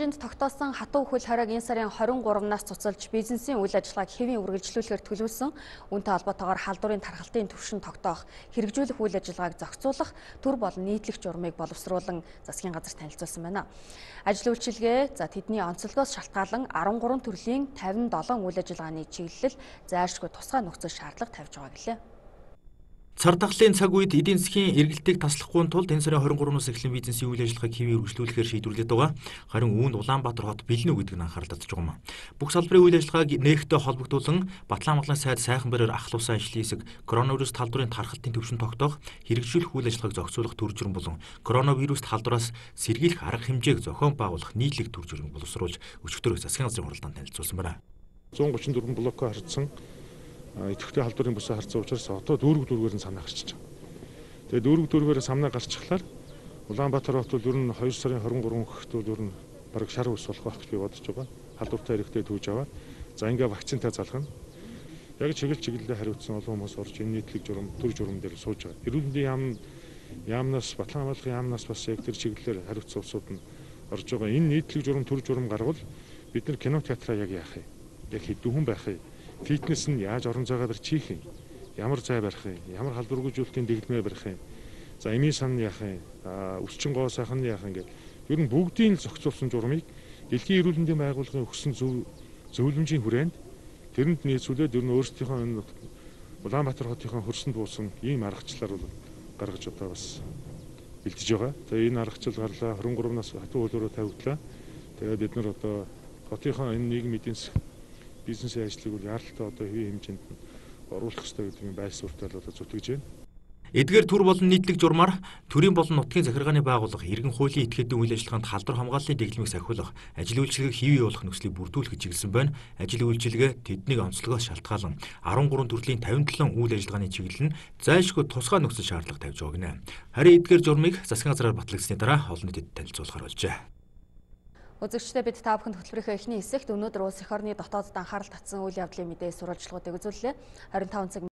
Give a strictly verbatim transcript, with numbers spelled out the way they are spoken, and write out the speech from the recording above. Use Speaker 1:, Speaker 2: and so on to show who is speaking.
Speaker 1: хэмжээнд тогтоосон хатуу хөл хориг энэ сарын хорин гуравнаас цуцалж бизнесийн үйл ажиллагааг хэвийн үргэлжлүүлэхээр төлөвлөсөн үүнтэй холбоотойгоор халдварын тархалтын түвшин тогтоох, хэрэгжүүлэх үйл ажиллагааг зохицуулах, төр болон нийтлэг журмыг боловсруулан засгийн газар танилцуулсан байна. Ажил үйлчилгээ за тэдний онцлогоос шалтгаалan арван гурван төрлийн тавин долоон үйл ажиллагааны чиглэл зайлшгүй тусгай нөхцөл шаардлага тавьж байгаа гэлээ.
Speaker 2: Цар тахлын цаг үед эдийн засгийн эргэлтийг таслахгүй тулд энэ сарын хорин гуравнаас эхлэн бизнесийн үйл ажиллагааг хэвийн үргэлжлүүлэхээр шийдвэрлээд байгаа. Харин үүнд Улаанбаатар хот бэлэн үү гэдэг нь анхаарал татж байгаа юм. Бүх салбарын үйл ажиллагааг нээгтээ холбогдуулан Батлан-Амгалан сайд сайхан бариар ахлуулсан ажлын хэсэг коронавирус талбарын тархалтын түвшин тогтоох, хэрэгжүүлэх үйл ажиллагааг зохицуулах төр журам болон коронавирус талбараас сэргийлэх арга хэмжээг зохион байгуулах нийтлэг төр журмыг боловсруулж өчигдөр засгийн газрын хуралдаанд танилцуулсан байна.
Speaker 3: зуун гучин дөрвөн блокоо харьцсан идэвхтэй халдварын бүсээ харьцсан учраас одоо дүүрэг дүүргээр нь санаа гарчиж байгаа. Тэгээ дүүрэг дүүргээр санаа гарчихлаар Улаанбаатар хот бол ер нь хоёр сарын хорин гурван гэхэд бол ер нь бараг шар ус болох байх гэж би бодож байгаа. Халдвартай хэрэгтэй түүж аваад за ингээ вакцинтай залгана. Яг чиглэл чиглэлээр хариуцсан олон хүмүүс орж энэ нийтлэг журам, төр журам дээр сууж байгаа. Эрүүл мэндийн яам яамнаас Батлан-Амгалан яамнаас бас яг тэр чиглэлээр хариуцсан улсууд нь орж байгаа. Энэ нийтлэг журам, төр журам гарвал бид нар кино театраа яг яах юм? Яг хэдүүхэн байх юм? Фитнес нь яаж орон зайгаа барьчих юм? Ямар зай барих юм? Ямар халдваргүйжүүлэлтийн дэгдмээ барих юм? За эмийн сан яах юм? Өсчин гоо сайхан яах юм гээд ер нь бүгдийн л зохицуулсан журмыг Дэлхийн эрүүл мэндийн байгууллагын өгсөн зөв зөвлөмжийн хүрээнд тэрэнд нийцүүлээд ер нь өөрсдийнхөө энэ Улаанбаатар хотынхаа хөрсөнд буусан ийм аргачлалаар бол гаргаж одоо бас бэлдэж байгаа. Тэгээ энэ аргачлал гарлаа хорин гуравнаас хатуу хөлөөрөө тавигдлаа. Тэгээ бид нар одоо хотынхаа энэ нийгмийн эдийн засаг бизнесийн ажлыг бол яаралтай одоо хэвийн хэмжээнд оруулах хэрэгтэй гэдэг нь байр суурьтай л одоо зүтгэж байна.
Speaker 2: Эдгээр төр болон нийтлэг журмаар төрийн болон нутгийн захиргааны байгууллага иргэн хуулийн этгээдийн үйл ажиллагаанд халдвар хамгааллын дэглэмийг сахиулах, ажил үйлчилгээг хэвий явуулах нөхцөлийг бүрдүүлэх чиглэсэн байна. Ажил үйлчилгээ тэднийг онцлогоос шалтгаалan арван гурван төрлийн тавин долоон үйл ажиллагааны чиглэл нь зайлшгүй тусгай нөхцөл шаардлага тавьж байгааг нэ. Харин эдгээр журмыг засгийн газраар батлагдсны дараа олон нийтэд танилцуулахар болжээ.
Speaker 1: Үзэгчдээ бид та бүхэнд хөтөлбөрийнхөө эхний хэсэгт өнөөдөр улс эх орны дотоодд анхаарал татсан үйл явдлын мэдээ сурвалжлагуудыг үзүүллээ. хорин таван цаг